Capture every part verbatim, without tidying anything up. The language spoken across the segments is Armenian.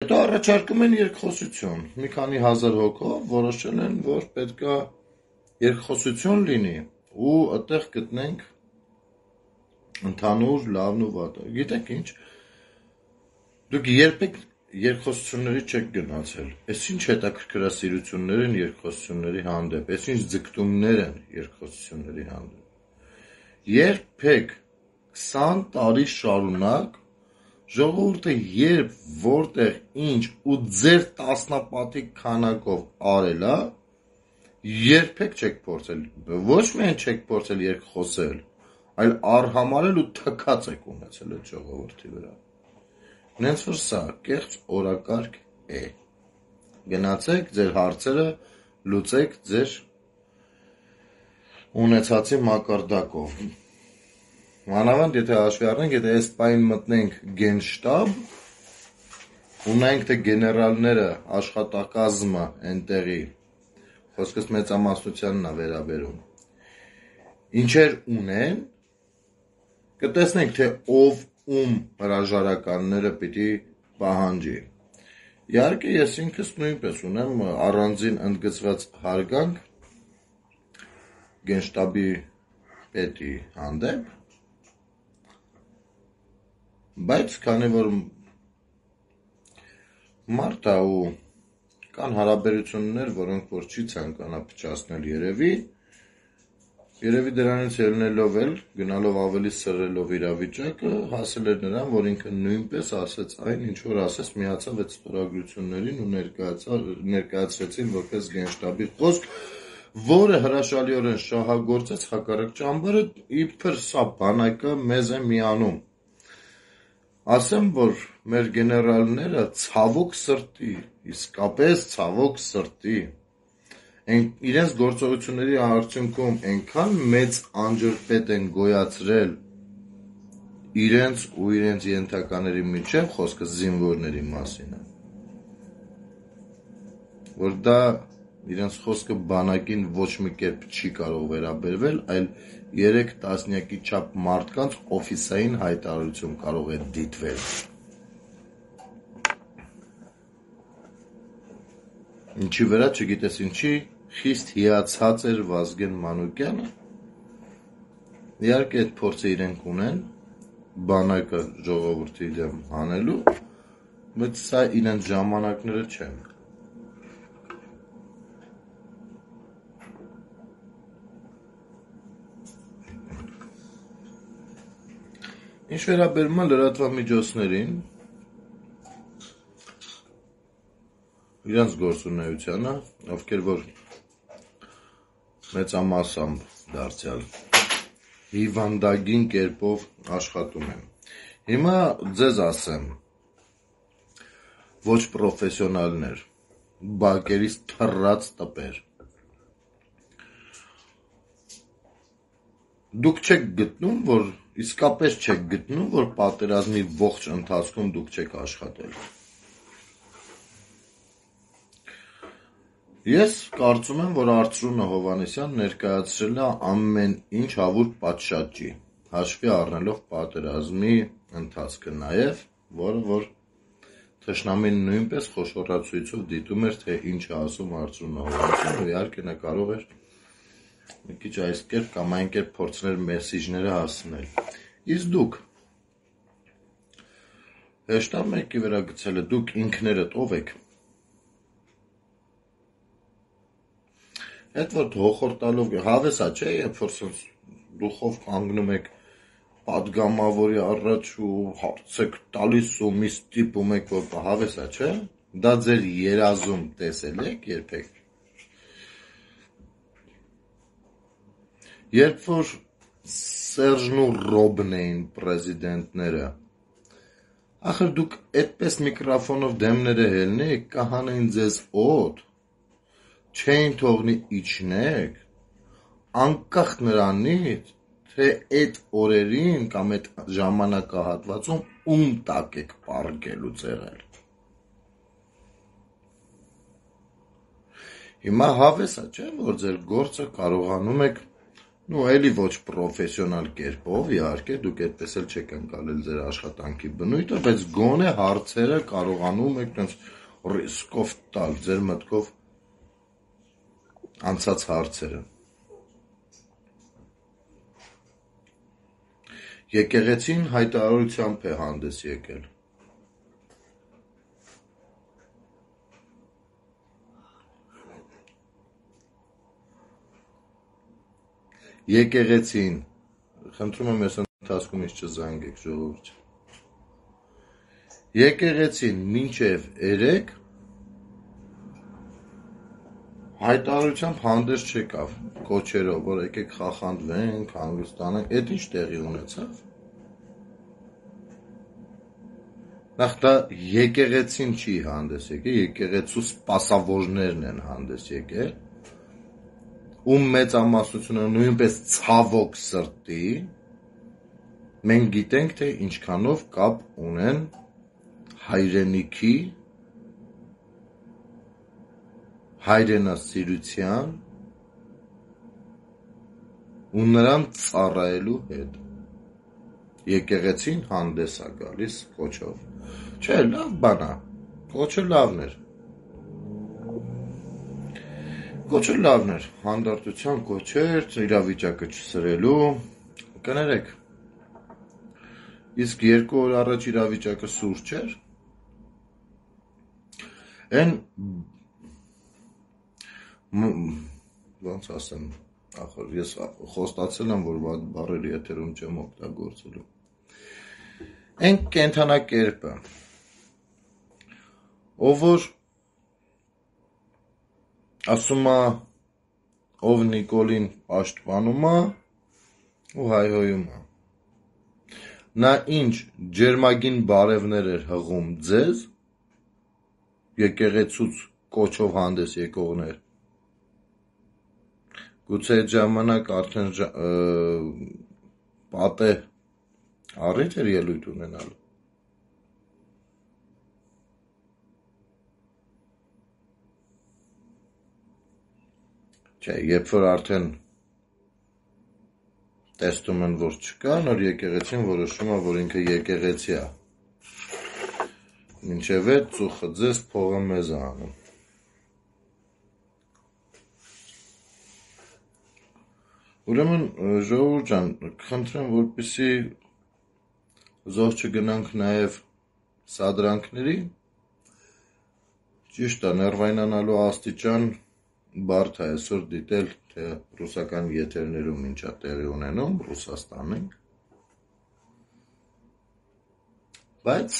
Հետո առաջարկում են երկխոսություն, մի քանի հազար հոգով որոշել են, որ պետքա երկխոսություն լինի ու այդտեղ գտնենք ընդհանուր լավն ու վատը։ Գիտեք ինչ, դուք երբեք երկխոսությունների չեք գնացել, այս ինչ հետաքրքրասիրություններ են երկխոսությունների հանդեպ, այս ինչ ձգտումներ են երկխոսությունների հանդեպ։ Երբեք քսան տարի շարունակ ժողովուրդը երբ որտեղ ինչ ու ձեր տասնապատիկ քանակով արել է, երբեք չեք փորձել, ոչ միայն չեք փորձել երկխոսել, այլ արհամարել ու թքած եք ունեցել այդ ժողովրդի վրա։ Նենց որ սա կեղծ օրակարգ է։ Գնացեք ձեր հարցերը լուծեք ձեր ունեցածի մակարդակով։ Մանավանդ եթե հաշվի առնենք, եթե այս պայն մտնենք գենշտաբ, ունենք թե գեներալները աշխատակազմը այնտեղի, խոսքս մեծամասնությանն է վերաբերում, ինչեր ունեն, կտեսնենք, թե ով ում հրաժարականները պիտի պահանջի։ Իհարկե ես ինքս նույնպես ունեմ առանձին ընդգծված հարգանք գենշտաբի պետի հանդեպ, բայց քանի որ մարդ է ու կան հարաբերություններ, որոնք որ չի ցանկանա փչացնել երևի, երևի դրանից ելնելով էլ, գնալով ավելի սրելով իրավիճակը, հասել էր նրան, որ ինքը նույնպես ասեց այն, ինչ որ ասեց, միացավ այդ ստորագրություններին ու ներկայացրեցին որպես գենշտաբի խոսք, որը հրաշալիորեն շահագործեց հակառակ ճամբարը, իբր սա բանակը մեզ է միանում։ Ասեմ, որ մեր գեներալները ցավոք սրտի, իսկապես ցավոք սրտի, իրենց գործողությունների արդյունքում այնքան մեծ անջրպետ են գոյացրել իրենց ու իրենց ենթակաների միջև, խոսքը զինվորների մասին է, որ դա իրենց խոսքը բանակին ոչ մի կերպ չի կարող վերաբերվել, այլ երեք տասնյակի չափ մարդկանց օֆիսային հայտարարություն կարող է դիտվել։ Ինչի վրա, չգիտես ինչի, խիստ հիացած էր Վազգեն Մանուկյանը, իհարկե այդ փորձը իրենք ունեն, բանակը ժողովրդի դեմ հանելու, բայց սա իրենց ժամանակները չեն։ Ինչ վերաբերում է լրատվամիջոցներին, իրենց գործունեությանը, ովքեր որ մեծամասամբ դարձյալ հիվանդագին կերպով աշխատում են։ Հիմա ձեզ ասեմ, ոչ պրոֆեսիոնալներ, բակերից թռած տպեր, դուք չեք գտնում, որ իսկապես չեք գտնում, որ պատերազմի ողջ ընթացքում դուք չեք աշխատել։ Ես կարծում եմ, որ Արծրունե Հովհաննիսյան ներկայացրել է ամեն ինչ հավուր պատշաճի, հաշվի առնելով պատերազմի ընթացքը նաև, որը որ թշնամին նույնպես խոշորացույցով դիտում էր, թե ինչ է ասում Արծրունե Հովհաննիսյանը, ու իհարկե նա կարող էր մի քիչ այս կերպ կամ այն կերպ փորձներ մեսիջները հասցնել։ Իսկ դուք հեշտար մեկի վրա գցել է, դուք ինքներդ ով եք։ Այդ որ հոխորտալով հավեսա չէ, երբ որ դուխով կանգնում եք պատգամավորի առաջ ու հարց եք տալիս ու մի ստիպում եք, որ հավեսա չէ, դա ձեր երազում տեսել եք երբեք։ Երբ որ Սերժն ու Ռոբն էին պրեզիդենտները, ախր դուք այդպես միկրոֆոնով դեմները հելնեիք, կհանեին ձեզ օդ, չէին թողնի իջնեք, անկախ նրանից, թե այդ օրերին կամ այդ ժամանակահատվածում ում տակ եք պառկելուց եղել։ Հիմա հավեսա չէ, որ ձեր գործը կարողանում եք նու էլի ոչ պրոֆեսիոնալ կերպով, իհարկե, դուք այդպես էլ չեք ընկալել ձեր աշխատանքի բնույթը, բայց գոնե հարցերը կարողանում եք տենց ռիսկով տալ, ձեր մտքով անցած հարցերը։ Եկեղեցին հայտարարությամբ է հանդես եկել։ Եկեղեցին, խնդրում եմ ես ընթացքում ինձ չզանգեք, ժողովուրդ։ Եկեղեցին մինչև երեկ հայտարարությամբ հանդես չեկավ, կոչերով, որ եկեք խախանդվենք, հանգստանանք, այդ ինչ տեղի ունեցավ։ Նախ դա եկեղեցին չի հանդես եկել, եկեղեցու սպասավորներն են հանդես եկել, ում մեծամասնությունը նույնպես ցավոք սրտի, մենք գիտենք, թե ինչքանով կապ ունեն հայրենիքի, հայրենասիրության ու նրան ծառայելու հետ։ Եկեղեցին հանդես է գալիս կոչով։ Չէ, լավ բան է, կոչը լավն էր։ Կոչը լավն էր, հանդարտության կոչեր, իրավիճակը չսրելու, կներեք։ Իսկ երկու օր առաջ իրավիճակը սուր չէր։ Են ոնց ասեմ, ախր ես խոստացել եմ, որ վատ բառեր եթերում չեմ օգտագործելու։ Այն կենդանակերպը, ով որ ասում է, ով Նիկոլին պաշտպանում է ու հայհոյում է։ Նա ինչ ջերմագին բարևներ էր հղում ձեզ, եկեղեցուց կոչով հանդես եկողներ։ Գուցե այդ ժամանակ արդեն պատե առիթ էր ելույթ ունենալու։ Չէ, երբ որ արդեն տեսնում են, որ չկա, նոր եկեղեցին որոշում է, որ ինքը եկեղեցի է։ Մինչև այդ ծուխը ձեզ փողը մեզ է անում։ Ուրեմն ժողովուրդ ջան, խնդրեմ, որպեսզի զոհ չգնանք նաև սադրանքների, ճիշտ է, ներվայնանալու աստիճան բարդ է այսօր դիտել, թե ռուսական եթերներում ինչ է տեղի ունենում Ռուսաստանում, բայց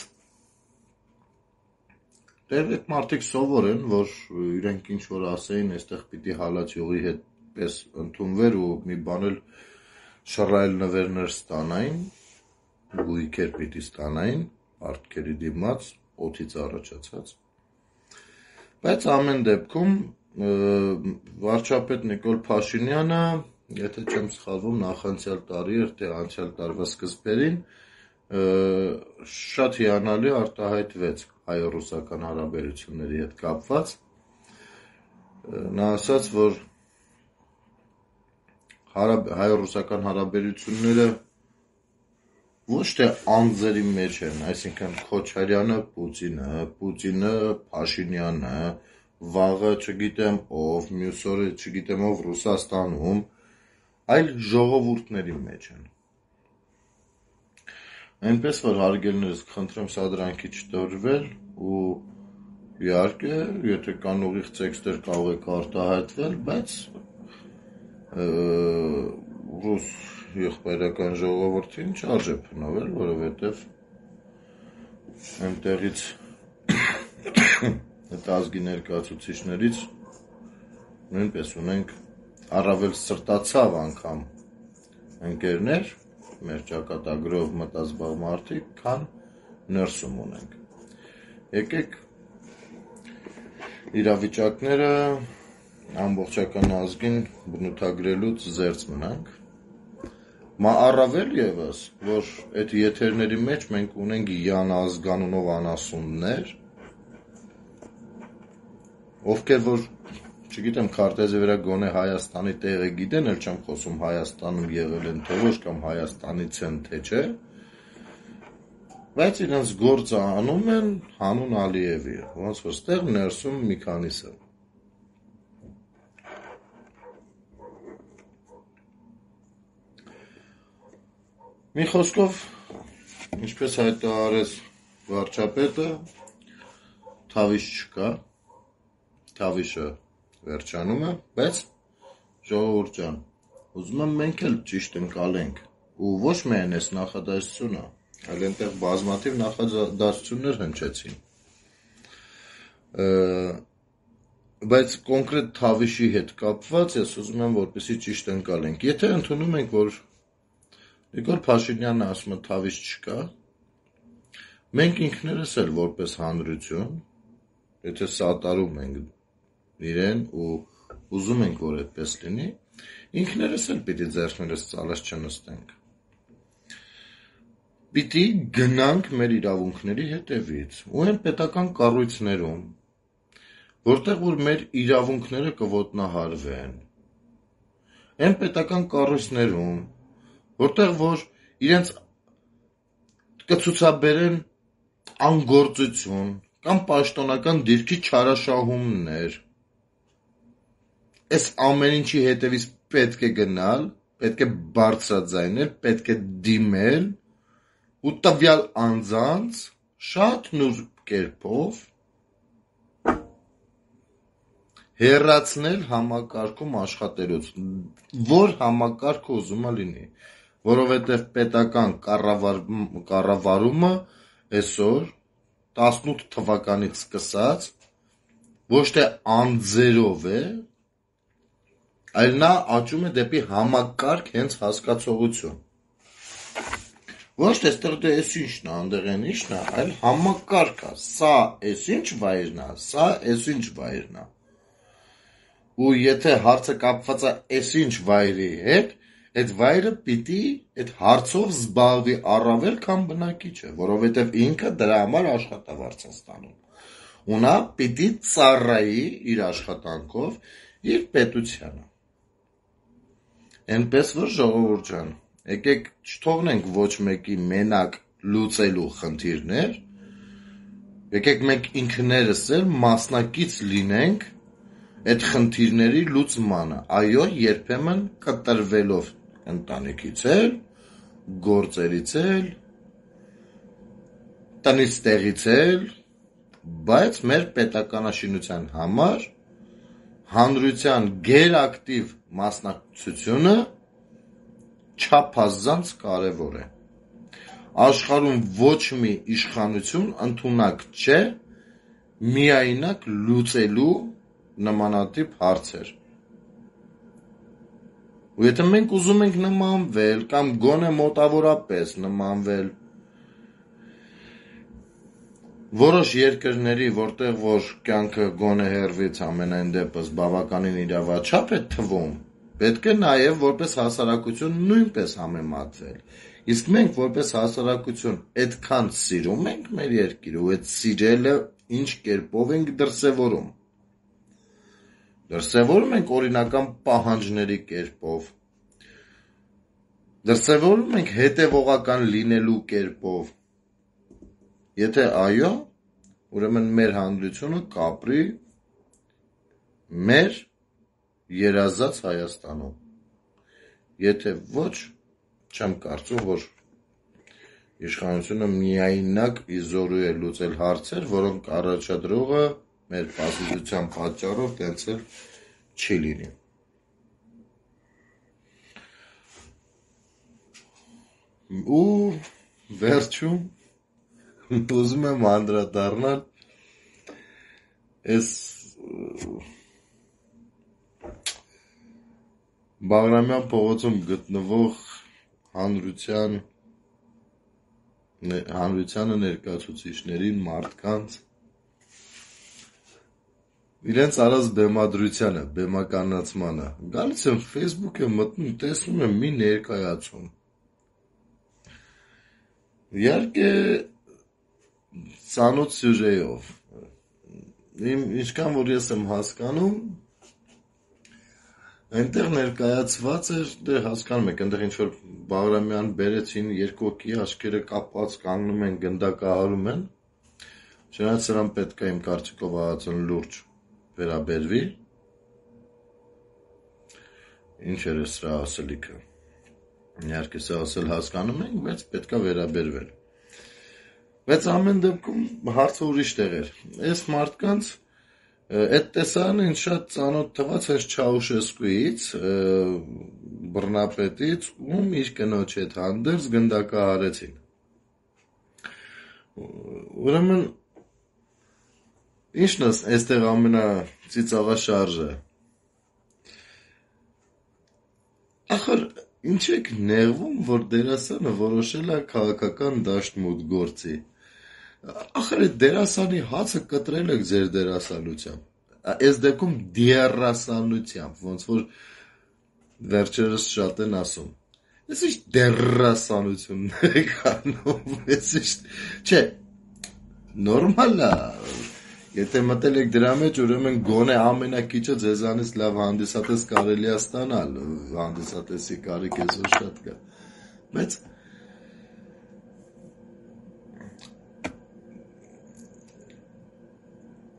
տեղեկ մարդիկ սովոր են, որ իրենք ինչ որ ասեին, այստեղ պիտի հալածյողի հետ պես ընդունվեր ու մի բան էլ շռայլ նվերներ ստանային, գույքեր պիտի ստանային, արտքերի դիմաց, օդից առաջացած։ Բայց ամեն դեպքում վարչապետ Նիկոլ Փաշինյանը, եթե չեմ սխալվում, նախանցյալ տարի էր, թե անցյալ տարվա սկզբերին, շատ հիանալի արտահայտվեց հայ-ռուսական հարաբերությունների հետ կապված։ Նա ասաց, որ հայ-ռուսական հարաբերությունները ոչ թե անձերի մեջ են, այսինքն Քոչարյանը Պուտինը, Պուտինը Փաշինյանը, վաղը չգիտեմ ով, մյուս օրը չգիտեմ ով Ռուսաստանում, այլ ժողովուրդների մեջ են։ Այնպես որ հարգելիներս, խնդրեմ սադրանքի չտորվել ու իհարկե, եթե կան ուղիղ տեքստեր կարող եք արտահայտվել, բայց ռուս եղբայրական ժողովրդին չարժե փնովել, որովհետև այնտեղից այդ ազգի ներկայացուցիչներից նույնպես ունենք առավել սրտացավ անգամ ընկերներ, մեր ճակատագրով մտազբաղ մարդիկ, քան ներսում ունենք։ Եկեք իրավիճակները ամբողջական ազգին բնութագրելուց զերծ մնանք։ Մա առավել ևս, որ այդ եթերների մեջ մենք ունենք Յան ազգանունով անասուններ, ովքեր որ չգիտեմ քարտեզի վրա գոնե Հայաստանի տեղը գիտեն, էլ չեմ խոսում Հայաստանում եղել են թե ոչ կամ Հայաստանից են թե չէ, բայց իրենց գործը անում են հանուն Ալիևի, ոնց որ ստեղ ներսում մի քանիսը։ Մի խոսքով, ինչպես հայտարարեց վարչապետը, թավիշ չկա, թավիշը վերջանում է, բայց ժողովուրդ ջան, ուզում եմ մենք էլ ճիշտ ընկալենք, ու ոչ միայն այս նախադասությունը, այլ այնտեղ բազմաթիվ նախադասություններ հնչեցին, բայց կոնկրետ թավիշի հետ կապված ես ուզում եմ որպեսզի ճիշտ ընկալենք, եթե ընդունում ենք, որ Նիկոլ Փաշինյանը ասում է թավիշ չկա, մենք ինքներս էլ որպես հանրություն, եթե սատարում ենք իրեն ու ուզում ենք, որ այդպես լինի, ինքներս էլ պիտի ձեռքներս ծալած չնստենք։ Պիտի գնանք մեր իրավունքների հետևից ու այն պետական կառույցներում, որտեղ որ մեր իրավունքները կոտնահարվեն, այն պետական կառույցներում, որտեղ որ իրենց կցուցաբերեն անգործություն կամ պաշտոնական դիրքի չարաշահումներ, այս ամեն ինչի հետևից պետք է գնալ, պետք է բարձրաձայնել, պետք է դիմել ու տվյալ անձանց շատ նուրբ կերպով հեռացնել համակարգում աշխատելուց, որ համակարգը ուզում է լինի, որովհետև պետական կառավարումը այսօր տասնութ թվականից սկսած ոչ թե անձերով է, այլ նա աճում է դեպի համակարգ հենց հասկացողություն։ Ոչ թե ստեղ դե էս ինչն է, անդեղ են ինչն է, այլ համակարգ է, սա էս ինչ վայրն է, սա էս ինչ վայրն է։ Ու եթե հարցը կապված է էս ինչ վայրի հետ, այդ վայրը պիտի այդ հարցով զբաղվի առավել քան բնակիչը, որովհետև ինքը դրա համար աշխատավարձ է ստանում։ Ու նա պիտի ծառայի իր աշխատանքով իր պետությանը։ Այնպես որ ժողովուրդ ջան, եկեք չթողնենք ոչ մեկի մենակ լուծելու խնդիրներ, եկեք մենք ինքներս էլ մասնակից լինենք այդ խնդիրների լուծմանը, այո, երբեմն կտրվելով ընտանիքից էլ, գործերից էլ, տնից տեղից էլ, բայց մեր պետականաշինության համար հանրության գերակտիվ մասնակցությունը չափազանց կարևոր է։ Աշխարհում ոչ մի իշխանություն ընդունակ չէ միայնակ լուծելու նմանատիպ հարցեր։ Ու եթե մենք ուզում ենք նմանվել կամ գոնե մոտավորապես նմանվել որոշ երկրների, որտեղ որ կյանքը գոնե հեռվից ամենայն դեպս բավականին իրավաչափ է թվում, պետք է նաև որպես հասարակություն նույնպես համեմատվել։ Իսկ մենք որպես հասարակություն այդքան սիրում ենք մեր երկիրը ու այդ սիրելը ինչ կերպով ենք դրսևորում։ Դրսևորում ենք օրինական պահանջների կերպով, դրսևորում ենք հետևողական լինելու կերպով, եթե այո, ուրեմն մեր հանրությունը կապրի մեր երազած Հայաստանում, եթե ոչ, չեմ կարծում, որ իշխանությունը միայնակ իզորու է լուծել հարցեր, որոնք առաջադրողը մեր պասիվության պատճառով տենց էլ չի լինի։ Ու վերջում ուզում եմ անդրադառնալ այս Բաղրամյան փողոցում գտնվող հանրության հանրությանը ներկայացուցիչներին, մարդկանց իրենց արած բեմադրությանը, բեմականացմանը։ Գալիս եմ Facebook-ը մտնում, տեսնում եմ մի ներկայացում։ Իհարկե ծանոթ սյուժեով։ Իմ ինչքան որ ես եմ հասկանում, Այնտեղ ներկայացված էր, դե հասկանում եք, այնտեղ ինչ որ Բաղրամյան բերեցին երկու հոգի, աչքերը կապած կանգնում են, գնդակահարում են։ Չնայած սրան պետք է իմ կարծիքով ահացն լուրջ վերաբերվի։ Ինչ էր սրա ասելիքը։ Իհարկե սա ասել հասկանում ենք, բայց պետք է վերաբերվել։ Բայց ամեն դեպքում հարցը ուրիշ տեղ էր։ Այս մարդկանց այդ տեսարանը ինձ շատ ծանոթ թվաց հենց Չաուշեսկուից, բռնապետից, ում իր կնոջ հետ հանդերձ գնդակահարեցին։ Ուրեմն ինչն է այստեղ ամենածիծաղաշարժը։ Ախր ինչ եք նեղվում, որ դերասանը որոշել է քաղաքական դաշտ մուտք գործի։ Ախր այդ դերասանի հացը կտրել եք ձեր դերասանությամբ։ Այս դեպքում դերասանությամբ, ոնց որ վերջերս շատ են ասում։ Ես ինչ դերասանություններ եք անում, ես ինչ, չէ, նորմալ է, եթե մտել եք դրա մեջ, ուրեմն գոնե ամենակիչը ձեզանից լավ հանդիսատես կարելի է ստանալ, հանդիսատեսի կարիք այսօր շատ կա, բայց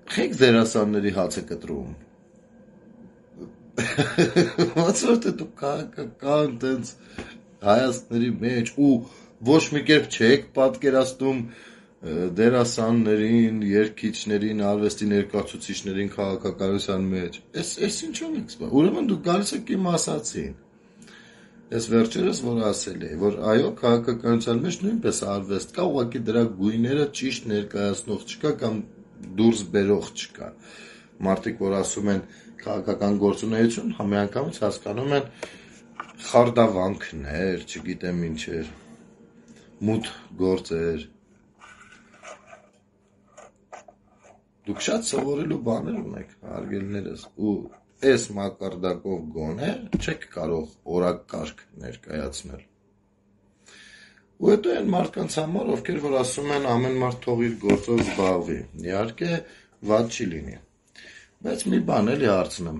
Խեք դերասանների հացը կտրում։ Ոնց որ դու քաղաքական տենց հայացքների մեջ ու ոչ մի կերպ չեք պատկերացնում դերասաններին, երգիչներին, արվեստի ներկայացուցիչներին քաղաքականության մեջ։ Էս էս ինչու՞ եք սպասում։ Ուրեմն դու գալիս եք իմ ասացին։ Ես վերջերս որ ասել էի, որ այո, քաղաքականության մեջ նույնպես արվեստ կա, ուղղակի դրա գույները ճիշտ ներկայացնող չկա կամ դուրս բերող չկա։ Մարդիկ, որ ասում են քաղաքական գործունեություն, համեանգամից հասկանում են խարդավանքներ, չգիտեմ ինչեր, մութ գործեր։ Դուք շատ սովորելու բաներ ունեք, հարգելիներս, ու այս մակարդակով գոնե չեք կարող օրակարգ ներկայացնել։ Ու հետո այն մարդկանց համար, ովքեր որ ասում են ամեն մարդ թող իր գործով զբաղվի, իհարկե վատ չի լինի։ Բայց մի բան էլի հարցնեմ։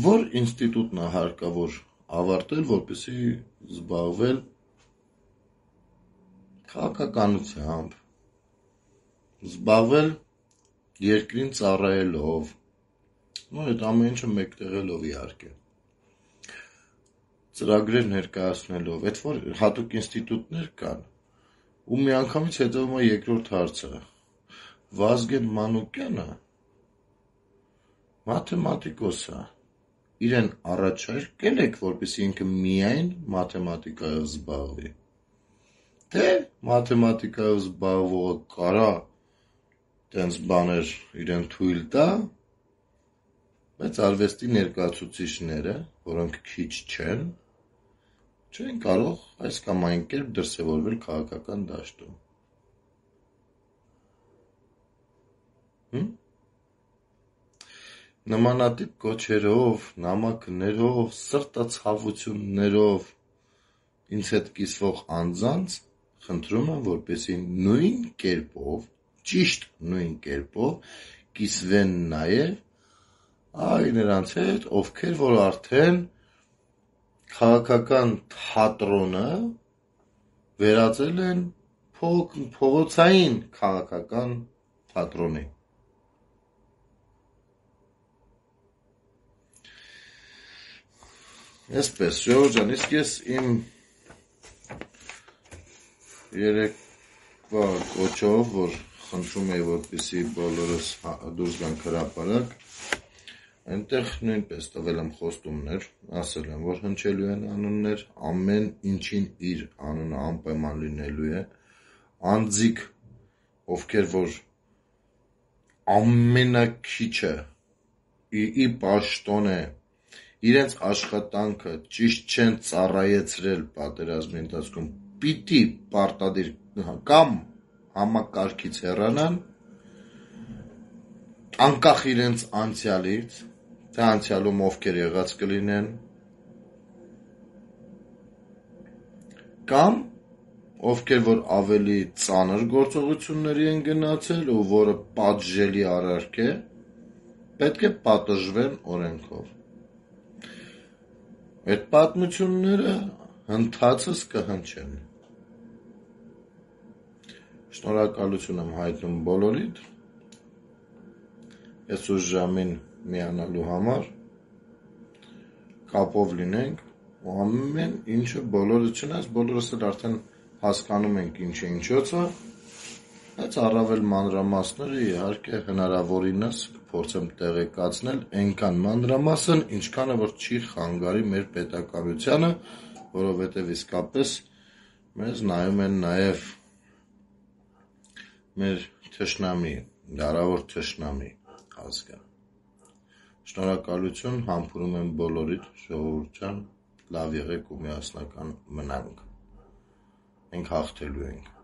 Որ ինստիտուտն է հարկավոր ավարտել, որպեսզի զբաղվել քաղաքականությամբ, զբաղվել երկրին ծառայելով, նո այդ ամեն ինչը մեկտեղելով իհարկե։ Ծրագրեր ներկայացնելով, այդ որ հատուկ ինստիտուտներ կան, ու միանգամից հետևում է երկրորդ հարցը։ Վազգեն Մանուկյանը մաթեմատիկոս է, իրեն առաջարկել եք, որպեսզի ինքը միայն մաթեմատիկայով զբաղվի։ Թե մաթեմատիկայով զբաղվողը կարա տենց բաներ իրեն թույլ տա, բայց արվեստի ներկայացուցիչները, որոնք քիչ չեն, չեն կարող այս կամ այն կերպ դրսևորվել քաղաքական դաշտում։ Հմ? Նմանատիպ կոչերով, նամակներով, սրտացավություններով ինձ հետ կիսվող անձանց խնդրում եմ, որպեսզի նույն կերպով, ճիշտ նույն կերպով կիսվեն նաև այ նրանց հետ, ովքեր որ արդեն քաղաքական թատրոնը վերածել են փողոցային քաղաքական թատրոնի։ Այսպես, Ժողովուրդ ջան, իսկ ես իմ երեկվա կոչով, որ խնդրում էի, որպեսզի բոլորս դուրս գանք հրապարակ, այնտեղ նույնպես տվել եմ խոստումներ, ասել եմ, որ հնչելու են անուններ, ամեն ինչին իր անունը անպայման լինելու է, անձիկ, ովքեր որ ամենակիչը ի պաշտոն է, իրենց աշխատանքը ճիշտ չեն ծառայեցրել պատերազմի ընթացքում, պիտի պարտադիր կամ համակարգից հեռանան, անկախ իրենց անցյալից, թե անցյալում ովքեր եղած կլինեն, կամ ովքեր որ ավելի ծանր գործողությունների են գնացել ու որը պատժելի արարք է, պետք է պատժվեն օրենքով։ Այդ պատմությունները հնդածս կհնչեն։ Շնորհակալություն եմ հայտնում բոլորիդ, ես ուր ժամին միանալու համար, կապով լինենք, ու ամեն ինչը բոլորը չնայած, բոլորս էլ արդեն հասկանում ենք ինչ է ինչոցը, բայց առավել մանրամասները իհարկե հնարավորինս փորձեմ տեղեկացնել այնքան մանրամասն, ինչքանը որ չի խանգարի մեր պետականությանը, որովհետև իսկապես մեզ նայում են նաև մեր թշնամի, դարավոր թշնամի ազգը։ Շնորհակալություն, համբուրում եմ բոլորիդ, ժողովուրդ ջան, լավ եղեք ու միասնական մնանք։ Մենք հաղթելու ենք։